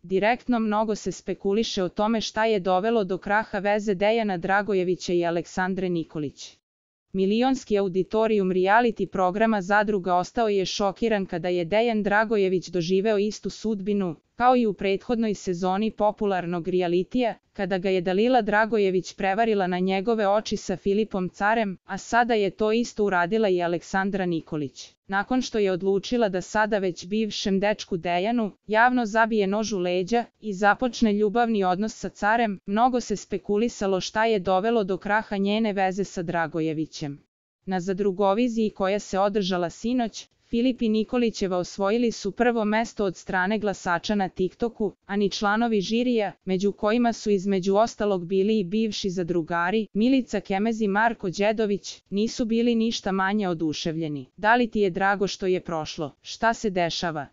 Direktno mnogo se spekuliše o tome šta je dovelo do kraha veze Dejana Dragojevića i Aleksandre Nikolić. Milionski auditorijum reality programa Zadruga ostao je šokiran kada je Dejan Dragojević doživeo istu sudbinu, kao i u prethodnoj sezoni popularnog realitija, kada ga je Dalila Dragojević prevarila na njegove oči sa Filipom Carem, a sada je to isto uradila i Aleksandra Nikolić. Nakon što je odlučila da sada već bivšem dečku Dejanu javno zabije nož u leđa i započne ljubavni odnos sa Carem, mnogo se spekulisalo šta je dovelo do kraha njene veze sa Dragojevićem. Na Zadrugoviziji koja se održala sinoć, Filip i Nikolićeva osvojili su prvo mesto od strane glasača na TikToku, a ni članovi žirija, među kojima su između ostalog bili i bivši zadrugari, Milica Kemez i Marko Đedović, nisu bili ništa manje oduševljeni. Da li ti je drago što je prošlo? Šta se dešava?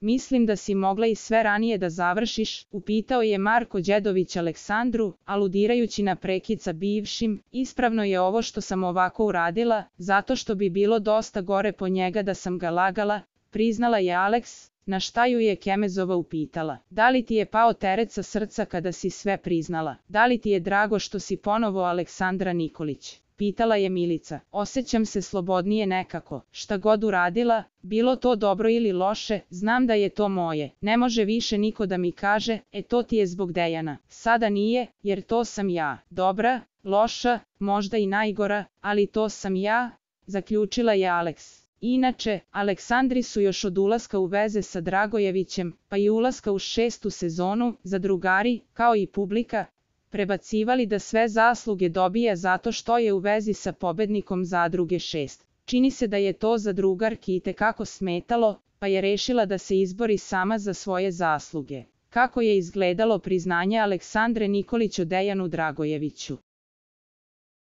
Mislim da si mogla i sve ranije da završiš, upitao je Marko Đedović Aleksandru, aludirajući na prekid sa bivšim. Ispravno je ovo što sam ovako uradila, zato što bi bilo dosta gore po njega da sam ga lagala, priznala je Aleks, na šta ju je Kemezova upitala. Da li ti je pao teret sa srca kada si sve priznala? Da li ti je drago što si ponovo Aleksandra Nikolić? Pitala je Milica. Osjećam se slobodnije nekako. Šta god uradila, bilo to dobro ili loše, znam da je to moje. Ne može više niko da mi kaže, to ti je zbog Dejana. Sada nije, jer to sam ja. Dobra, loša, možda i najgora, ali to sam ja, zaključila je Aleks. Inače, Aleksandri su još od ulaska u veze sa Dragojevićem, pa i ulaska u 6. sezonu, zadrugari, kao i publika, prebacivali da sve zasluge dobija zato što je u vezi sa pobednikom Zadruge 6. Čini se da je to zadrugarki itekako smetalo, pa je rešila da se izbori sama za svoje zasluge. Kako je izgledalo priznanje Aleksandre Nikolić o Dejanu Dragojeviću?